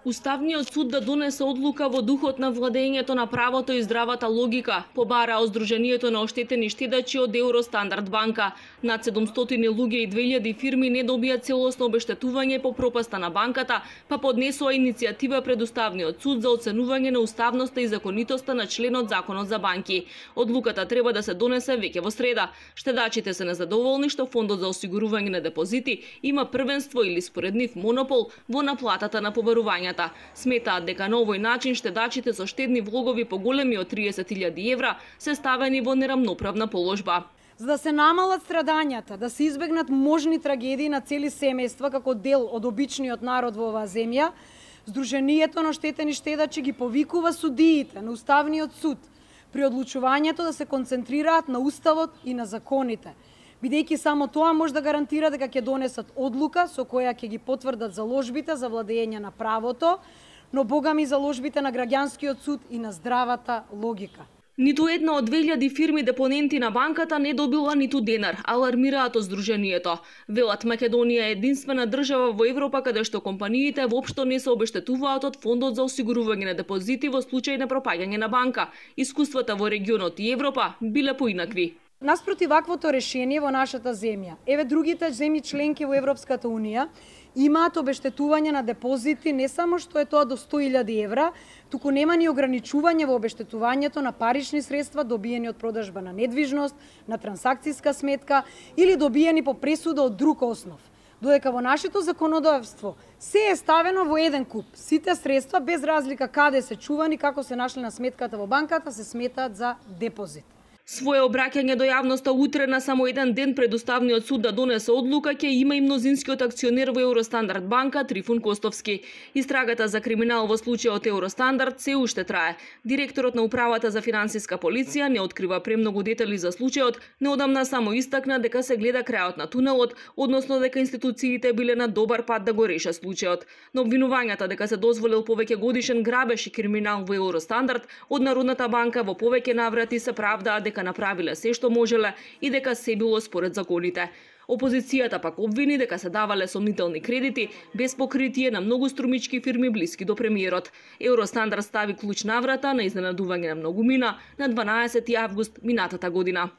Уставниот суд да донесе одлука во духот на владењето на правото и здравата логика, побараа Сдруженијето на оштетени штедачи од Евростандард банка. Над 700 луѓе и 2000 фирми не добија целосно обештетување по пропаста на банката, па поднесоа иницијатива пред Уставниот суд за оценување на уставноста и законитоста на членот Законот за банки. Одлуката треба да се донесе веќе во среда. Штедачите се незадоволни што Фондот за осигурување на депозити има првенство или според нив монопол во наплатата на побарувањата. Сметаат дека на овој начин штедачите со штедни влогови поголеми од 30.000 евра се ставени во нерамноправна положба. За да се намалат страдањата, да се избегнат можни трагедии на цели семејства како дел од обичниот народ во оваа земја, Сдруженијето на оштетени штедачи ги повикува судиите на Уставниот суд при одлучувањето да се концентрираат на Уставот и на законите, бидејќи само тоа може да гарантира дека ќе донесат одлука со која ќе ги потврдат заложбите за владење на правото, но богами заложбите на граѓанскиот суд и на здравата логика. Ниту една од 2000 фирми депоненти на банката не добила ниту денар, алармираат од Сдруженијето. Велат Македонија е единствена држава во Европа каде што компаниите воопшто не се обештетуваат од Фондот за осигурување на депозити во случај на пропаѓање на банка. Искуствата во регионот и Европа биле поинакви. Наспроти ваквото решение во нашата земја, еве другите земји членки во Европската Унија имаат обештетување на депозити не само што е тоа до 100.000 евра, туку нема ни ограничување во обештетувањето на парични средства добиени од продажба на недвижност, на трансакцијска сметка или добиени по пресуда од друг основ. Додека во нашето законодавство се е ставено во еден куп. Сите средства, без разлика каде се чувани, како се нашли на сметката во банката, се сметаат за депозит. Своје обраќање до јавноста утре на само еден ден пред Уставниот суд да донесе одлука ќе има и мнозинскиот акционер во Евростандард банка Трифун Костовски. Истрагата за криминал во случајот Евростандард се уште трае. Директорот на управата за финансиска полиција не открива премногу детали за случајот, неодамна само истакна дека се гледа крајот на тунелот, односно дека институциите биле на добар пат да го решат случајот. Но обвинувањата дека се дозволил повеќе годишен грабеж и криминал во Евростандард од Народната банка во повеќе наврати се правдаат дека направиле се што можеле и дека се било според законите. Опозицијата пак обвини дека се давале сомнителни кредити без покритие на многу струмички фирми блиски до премиерот. Евростандард стави клуч на врата на изненадување на многумина на 12 август минатата година.